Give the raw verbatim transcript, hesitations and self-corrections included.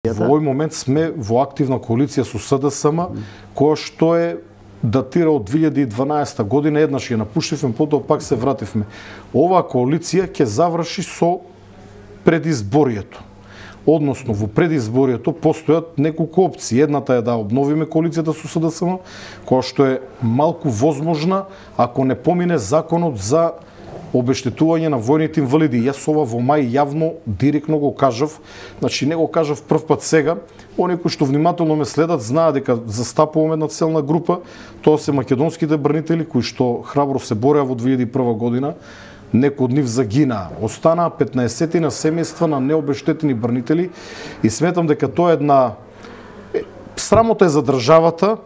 Во овој момент сме во активна коалиција со СДСМ, која што е датира од две илјади и дванаесета година, еднаш ја напуштивме, потоа пак се вративме. Оваа коалиција ќе заврши со предизборието. Односно, во предизборието постојат неколку опции. Едната е да обновиме коалицијата со СДСМ, која што е малку возможна ако не помине законот за обештетување на војните инвалиди. Јас ова во мај јавно директно го кажав, значи не го кажав прв пат сега. Оние кои што внимателно ме следат знаат дека застапувам една целна група, тоа се македонските бранители кои што храбро се бореа во две илјади и прва година. Некои од нив загинаа. Останаа петнаесетина семејства на необештетени бранители и сметам дека тоа е една срамота е за државата